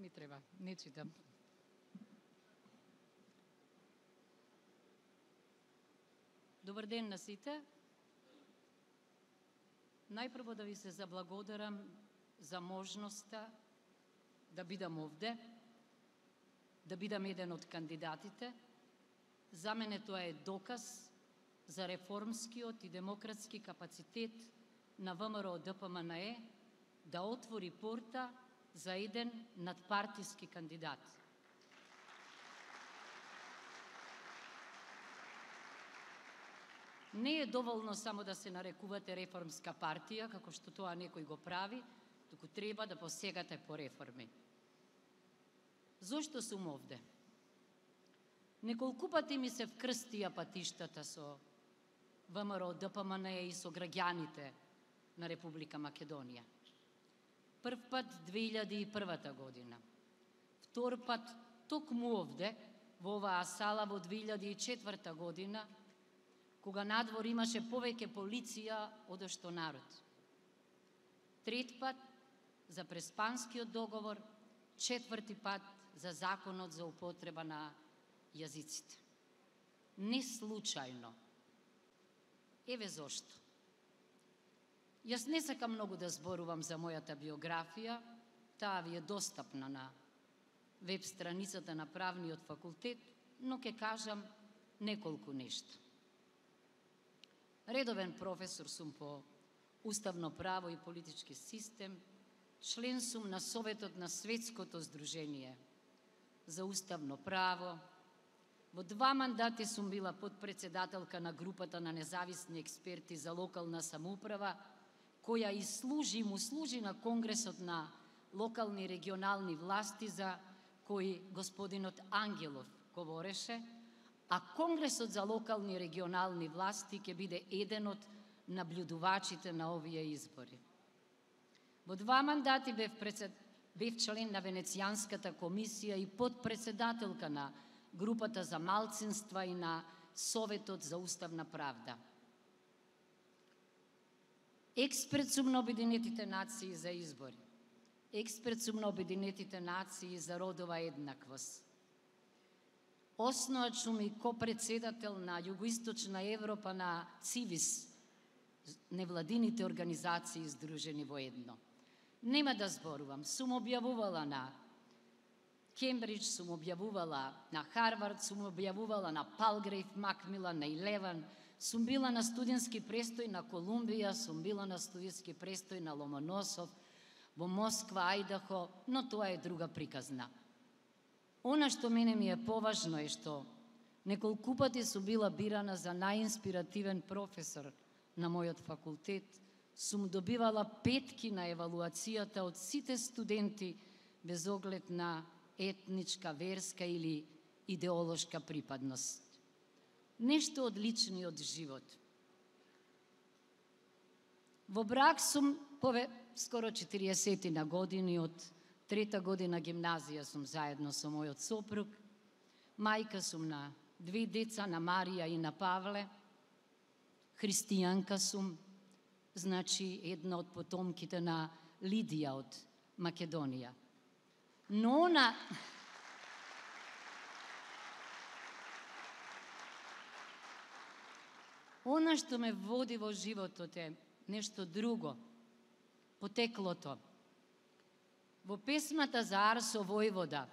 Не треба, не читам. Добар ден на сите. Најпрво да ви се заблагодарам за можноста да бидам овде, да бидам еден од кандидатите. За мене тоа е доказ за реформскиот и демократски капацитет на ВМРО ДПМНЕ да отвори порта за еден надпартиски кандидат. Не е доволно само да се нарекувате реформска партија, како што тоа некој го прави, туку треба да посегате по реформи. Зошто сум овде? Неколку пати ми се вкрстија патиштата со ВМРО ДПМНЕ и со граѓаните на Република Македонија. Прв пат 2001 година. Втор пат токму овде, во оваа сала во 2004 година, кога надвор имаше повеќе полиција од што народ. Трет пат за Преспанскиот договор, четврти пат за законот за употреба на јазиците. Не случајно. Еве зошто. Јас не сакам многу да зборувам за мојата биографија, таа ви е достапна на веб страницата на Правниот факултет, но ќе кажам неколку нешта. Редовен професор сум по уставно право и политички систем, член сум на Советот на Светското здружение за уставно право. Во 2 мандати сум била подпредседателка на групата на независни експерти за локална самоуправа, која му служи на Конгресот на локални и регионални власти, за кој господинот Ангелов говореше, а Конгресот за локални и регионални власти ќе биде еден од наблюдувачите на овие избори. Во 2 мандати бев член на Венецијанската комисија и подпредседателка на групата за малцинства и на Советот за уставна правда. Експерт сум на Обединетите нации за избори. Експерт сум на Обединетите нации за родова еднаквост. Основач сум и копредседател на Југоисточна Европа на ЦИВИС, невладините организации издружени во едно. Нема да зборувам, сум објавувала на Кембридж, сум објавувала на Харвард, сум објавувала на Палгрейв, Макмилан, на Илеван, сум била на студентски престој на Колумбија, сум била на студентски престој на Ломоносов, во Москва, Ајдахо, но тоа е друга приказна. Она што мене ми е поважно е што неколку пати сум била бирана за најинспиративен професор на мојот факултет, сум добивала 5 на евалуацијата од сите студенти без оглед на етничка, верска или идеолошка припадност. Нешто од личниот живот. Во брак сум скоро 40 на години, од 3 година гимназија сум заедно со мојот сопруг. Мајка сум на 2 деца, на Марија и на Павле. Христијанка сум, значи една од потомките на Лидија од Македонија. Но она што ме води во животот е нешто друго, потеклото. Во песмата за Арсо Војвода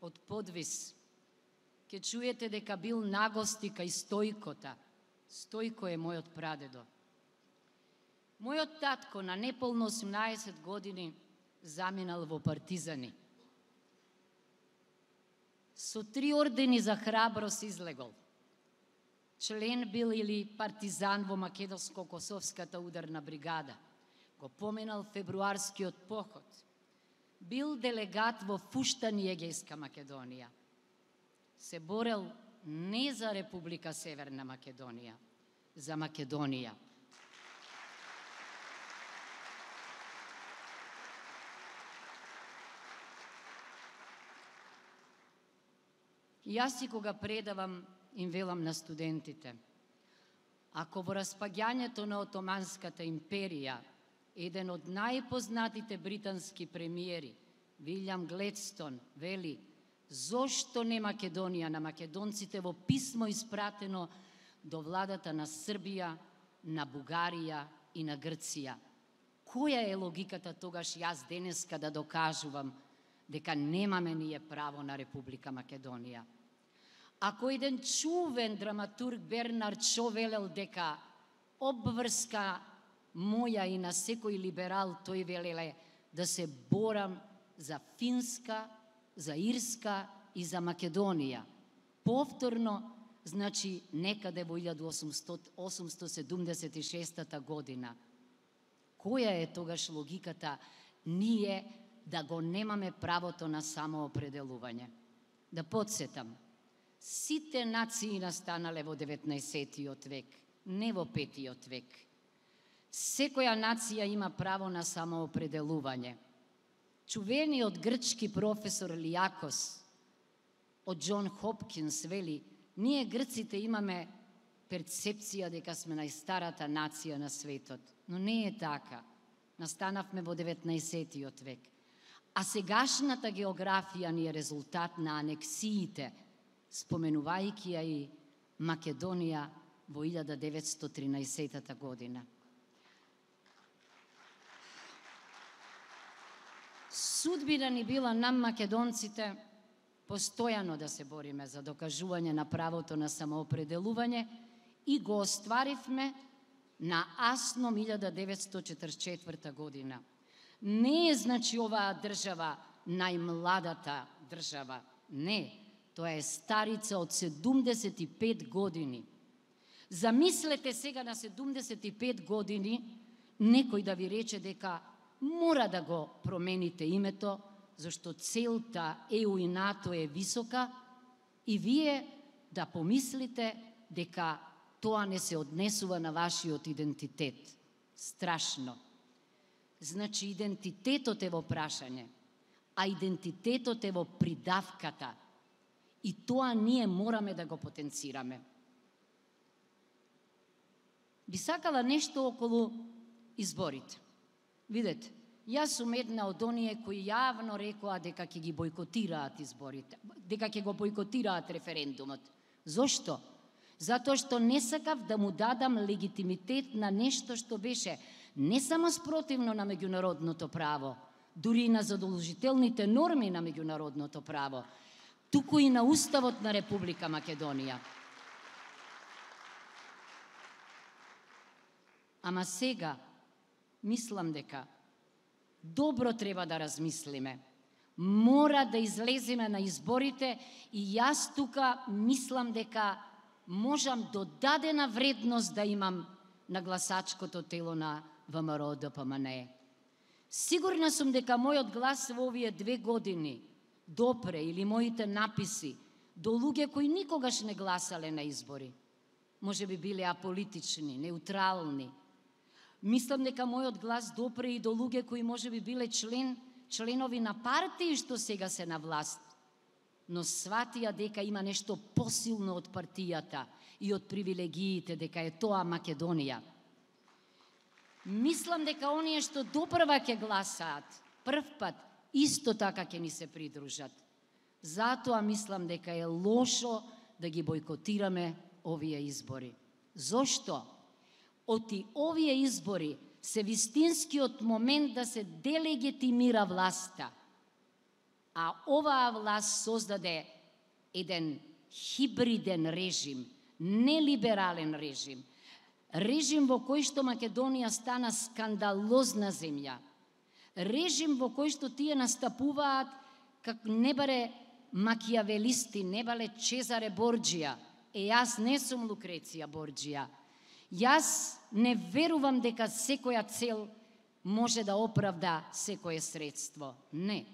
од Подвис ќе чуете дека бил нагости кај Стојкота. Стојко е мојот прадедо. Мојот татко на неполно 18 години заминал во партизани. Со 3 ордени за храброст излегол. Член бил или партизан во Македонско-Косовската ударна бригада. Го поминал февруарскиот поход. Бил делегат во Фуштани, Егејска Македонија. Се борел не за Република Северна Македонија, за Македонија. Јас и кога предавам, им велам на студентите, ако во распаѓањето на Отоманската империја еден од најпознатите британски премиери Вилјам Гледстон вели: зошто не Македонија? На македонците во писмо испратено до владата на Србија, на Бугарија и на Грција. Која е логиката тогаш јас денеска да докажувам дека немаме ние право на Република Македонија? Ако еден чувен драматург Бернард Шо велел дека обврска моја и на секој либерал, тој велеле да се борам за Финска, за Ирска и за Македонија. Повторно, значи некаде во 1876 година. Која е тогаш логиката ние да го немаме правото на самоопределување? Да подсетам, сите нации настанале во 19 век, не во 5 век. Секоја нација има право на самоопределување. Чувениот грчки професор Лиакос од Џон Хопкинс вели: ние грците имаме перцепција дека сме најстарата нација на светот, но не е така. Настанавме во 19 век. А сегашната географија ни е резултат на анексиите, споменувајќи ја и Македонија во 1913 година. Судбина ни била нам македонците постојано да се бориме за докажување на правото на самоопределување и го остваривме на Асном 1944 година. Не е, значи, оваа држава најмладата држава. Не, тоа е старица од 75 години. Замислете сега на 75 години некој да ви рече дека мора да го промените името, зашто целта ЕУ и НАТО е висока, и вие да помислите дека тоа не се однесува на вашиот идентитет. Страшно. Значи, идентитетот е во прашање, а идентитетот е во придавката. И тоа ние мораме да го потенцираме. Би сакала нешто околу изборите. Видете, јас сум една од оние кои јавно рекоа дека ќе ги бойкотираат изборите, дека ќе го бойкотираат референдумот. Зошто? Затоа што не сакав да му дадам легитимитет на нешто што беше не само спротивно на меѓународното право, дури и на задолжителните норми на меѓународното право, туку и на Уставот на Република Македонија. Ама сега, мислам дека добро треба да размислиме. Мора да излеземе на изборите и јас тука мислам дека можам додадена вредност да имам на гласачкото тело на ВМРО-ДПМНЕ. Сигурна сум дека мојот глас во овие 2 години допре, или моите написи, до луѓе кои никогаш не гласале на избори. Може би биле аполитични, неутрални. Мислам дека мојот глас допре и до луѓе кои може би биле членови на партии што сега се на власт, но сватија дека има нешто посилно од партијата и од привилегиите, дека е тоа Македонија. Мислам дека оние што допрва ќе гласаат, прв пат, исто така ќе ни се придружат. Затоа мислам дека е лошо да ги бойкотираме овие избори. Зошто? Оти овие избори се вистинскиот момент да се делегитимира власта. А оваа власт создаде еден хибриден режим, нелиберален режим, режим во кој што Македонија стана скандалозна земја, режим во кој што тие настапуваат како не баре макијавелисти, не бале Чезаре Борџија. Јас не сум Лукреција Борџија. Јас не верувам дека секоја цел може да оправда секое средство. Не.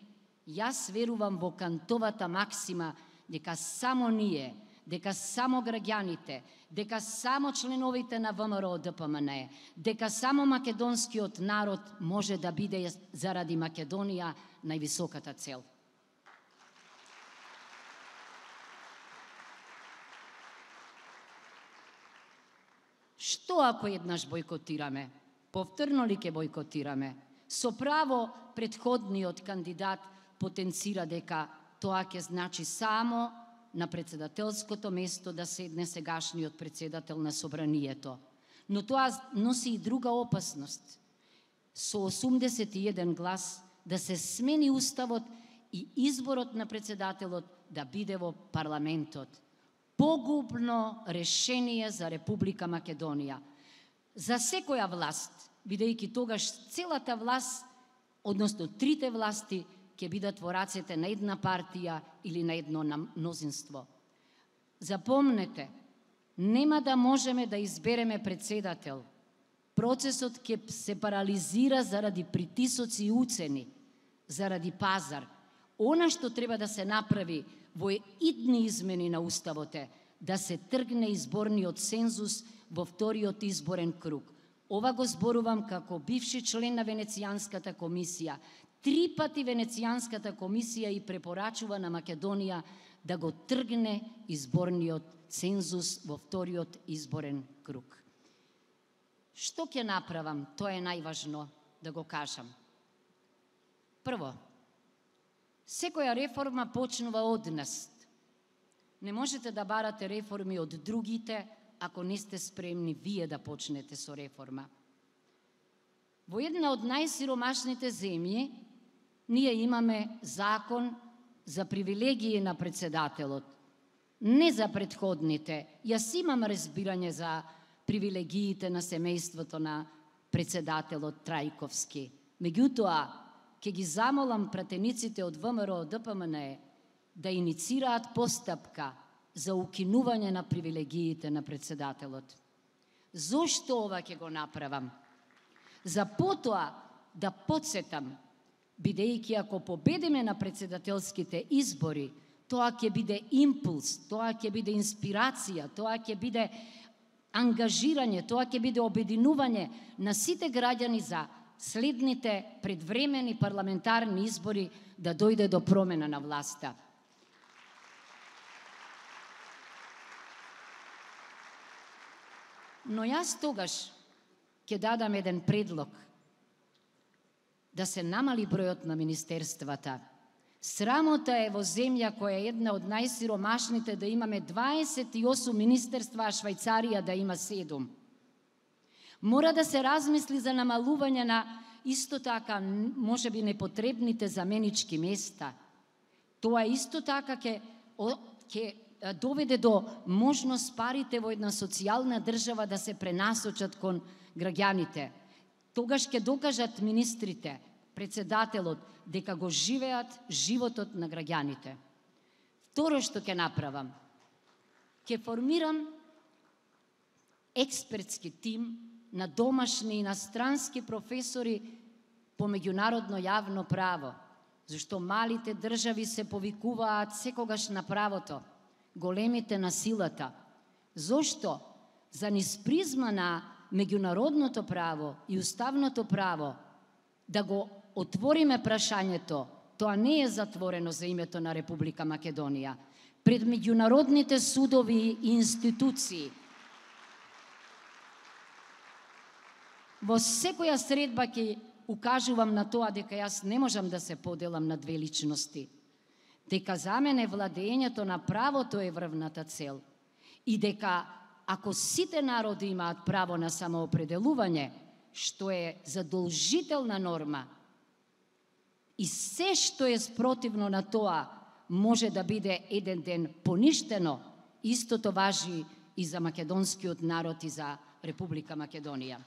Јас верувам во Кантовата максима дека само ние, дека само граѓаните, дека само членовите на ВМРО-ДПМНЕ, дека само македонскиот народ може да биде заради Македонија највисоката цел. Што ако еднаш бойкотираме? Повторно ли ќе бойкотираме? Со право претходниот кандидат потенцира дека тоа ќе значи само на председателското место да седне сегашниот председател на собранието. Но тоа носи и друга опасност. Со 81 глас да се смени уставот и изборот на председателот да биде во парламентот. Погубно решение за Република Македонија. За секоја власт, бидејќи тогаш целата власт, односно трите власти, ќе бидат во рацете на една партија или на едно мнозинство. Запомнете, нема да можеме да избереме председател. Процесот ќе се парализира заради притисоци и уцени, заради пазар. Она што треба да се направи во идни измени на уставот е да се тргне изборниот цензус во вториот изборен круг. Ова го зборувам како бивши член на Венецијанската комисија. 3 пати Венецијанската комисија и препорачува на Македонија да го тргне изборниот цензус во вториот изборен круг. Што ќе направам? Тоа е најважно да го кажам. Прво, секоја реформа почнува од нас. Не можете да барате реформи од другите ако не сте спремни вие да почнете со реформа. Во една од најсиромашните земји ние имаме закон за привилегии на председателот, не за претходните. Јас имам разбирање за привилегиите на семејството на председателот Трајковски. Меѓутоа, ќе ги замолам пратениците од ВМРО ДПМН да иницираат постапка за укинување на привилегиите на председателот. Зошто ова ќе го направам? За потоа да подсетам, бидејќи ако победиме на председателските избори, тоа ќе биде импулс, тоа ќе биде инспирација, тоа ќе биде ангажирање, тоа ќе биде обединување на сите граѓани за следните предвремени парламентарни избори да дојде до промена на власта. Но јас тогаш ќе дадам еден предлог да се намали бројот на министерствата. Срамота е во земја која е една од најсиромашните да имаме 28 министерства, а Швајцарија да има 7. Мора да се размисли за намалување на исто така можеби непотребните заменички места. Тоа исто така ќе доведе до можност парите во една социјална држава да се пренасочат кон граѓаните. Тогаш ќе докажат министрите, председателот, дека го живеат животот на граѓаните. Второ што ќе направам, ќе формирам експертски тим на домашни и инострански професори по меѓународно јавно право, зашто малите држави се повикуваат секогаш на правото, големите на силата. Зошто? За низ призма на меѓународното право и уставното право да го отвориме прашањето, тоа не е затворено за името на Република Македонија. Пред меѓународните судови и институции, во секоја средба ќе укажувам на тоа дека јас не можам да се поделам на две личности, дека за мене владењето на правото е врвната цел и дека ако сите народи имаат право на самоопределување, што е задолжителна норма, и се што е спротивно на тоа може да биде еден ден поништено, истото важи и за македонскиот народ и за Република Македонија.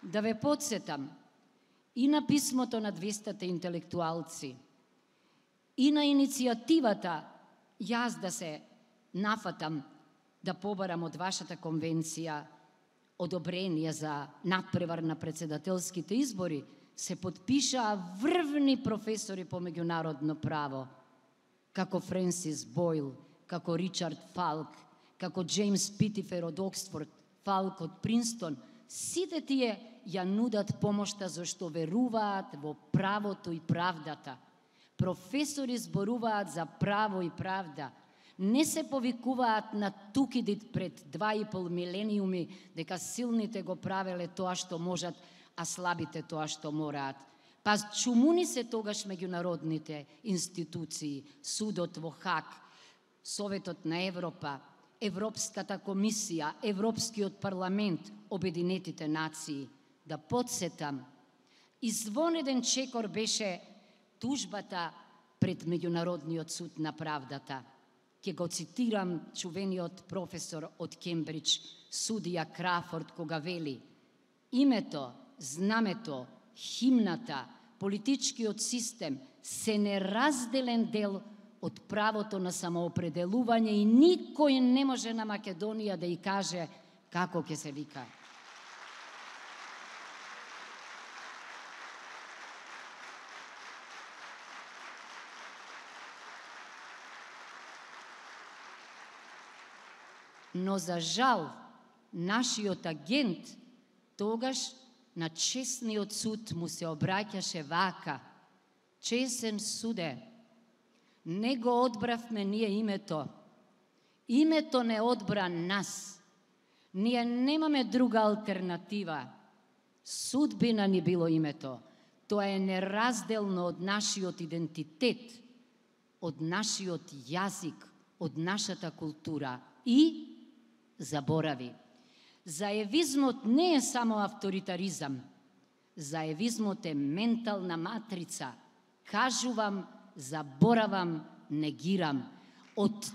Да ве подсетам и на писмото на 200 интелектуалци, и на иницијативата јас да се нафатам да побарам од вашата конвенција одобрение за надпревар на председателските избори, се подпишаа врвни професори по меѓународно право, како Френсис Бойл, како Ричард Фалк, како Джеймс Питифер од Оксфорд, Фалк од Принстон. Сите тие ја нудат помошта зашто веруваат во правото и правдата. Професори зборуваат за право и правда. Не се повикуваат на тукидит пред 2,5 милениуми дека силните го правеле тоа што можат, а слабите тоа што мораат. Па чумуни се тогаш меѓународните институции, судот во Хаг, Советот на Европа, Европската комисија, Европскиот парламент, Обединетите нации. Да подсетам, извонеден чекор беше тужбата пред Меѓународниот суд на правдата. Ке го цитирам чувениот професор од Кембридж, судија Крафорд, кога вели: името, знамето, химната, политичкиот систем се неразделен дел од правото на самоопределување и никој не може на Македонија да ја каже како ќе се вика. Но за жал, нашиот агент тогаш на честниот суд му се обраќаше вака: чесен суде, не го одбравме ние името. Името не одбра нас. Ние немаме друга алтернатива. Судбина ни било името. Тоа е неразделно од нашиот идентитет, од нашиот јазик, од нашата култура. И заборави. Заевизмот не е само авторитаризам. Заевизмот е ментална матрица. Кажувам, заборавам, негирам. Од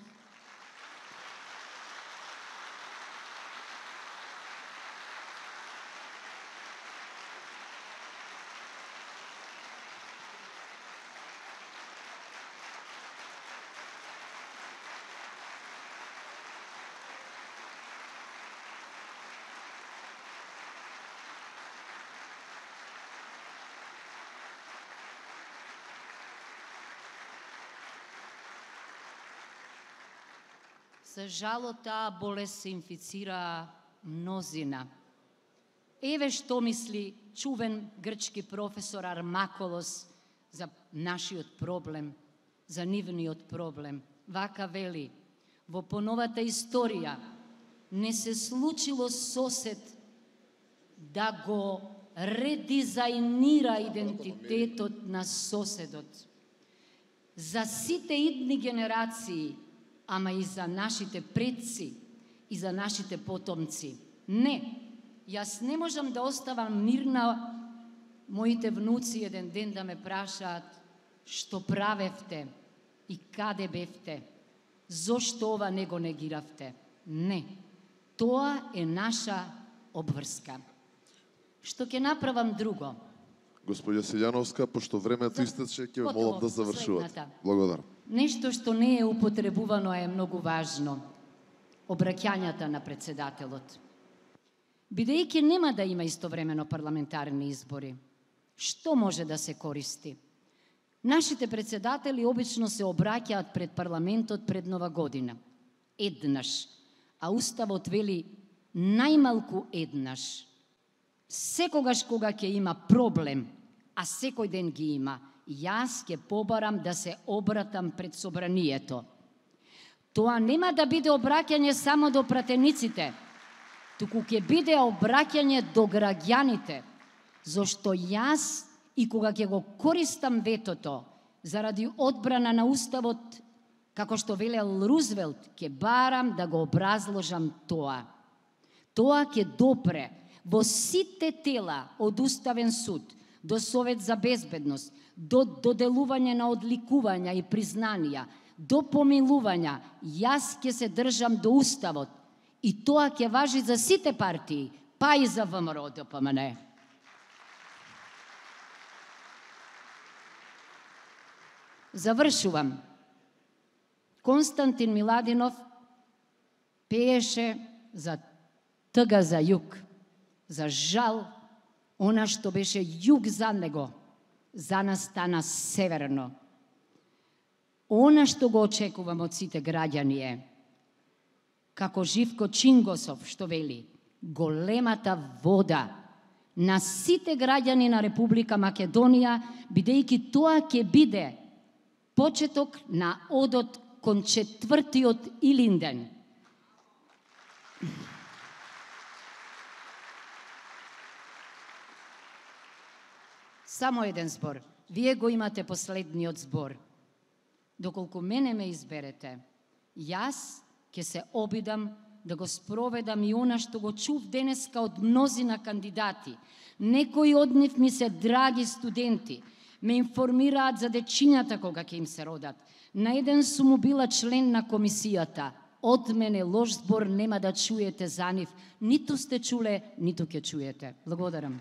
За жало, таа болест се инфицира мнозина. Еве што мисли чувен грчки професор Армаколос за нашиот проблем, за нивниот проблем. Вака вели: во поновата историја не се случило сосед да го редизајнира идентитетот на соседот. За сите идни генерации, ама и за нашите предци и за нашите потомци. Не, јас не можам да оставам мирна моите внуци еден ден да ме прашаат што правевте и каде бевте, зошто ова не го негиравте. Не, тоа е наша обврска. Што ќе направам друго? Господја Силјановска, пошто времето истече, ќе ве молам да завршувате. Благодарам. Нешто што не е употребувано е многу важно. Обраќањата на председателот. Бидејќи нема да има истовремено парламентарни избори, што може да се користи? Нашите председатели обично се обраќаат пред парламентот пред Нова година. Еднаш. А Уставот вели најмалку еднаш. Секогаш кога ќе има проблем, а секој ден ги има, јас ќе побарам да се обратам пред собранието. Тоа нема да биде обраќање само до пратениците, туку ќе биде обраќање до граѓаните, зашто јас и кога ќе го користам ветото заради одбрана на Уставот, како што велел Рузвелт, ќе барам да го образложам тоа. Тоа ќе допре во сите тела од Уставен суд, до Совет за безбедност, до доделување на одликувања и признанија, до помилувања, јас ќе се држам до Уставот. И тоа ќе важи за сите партии, па и за ВМРО-ДПМН. Завршувам. Константин Миладинов пееше за тъга за југ. За жал, она што беше југ за него, за нас стана северно. Она што го очекувам од сите граѓани е, како Живко Чингосов што вели, големата вода на сите граѓани на Република Македонија, бидејќи тоа ќе биде почеток на одот кон четвртиот Илинден. Само еден збор. Вие го имате последниот збор. Доколку мене ме изберете, јас ќе се обидам да го спроведам и она што го чув денеска од мнозина кандидати. Некои од нив ми се драги студенти, ме информираат за дечињата кога ќе им се родат. На еден сум била член на комисијата. Од мене лош збор нема да чуете за нив. Ниту сте чуле, ниту ќе чуете. Благодарам.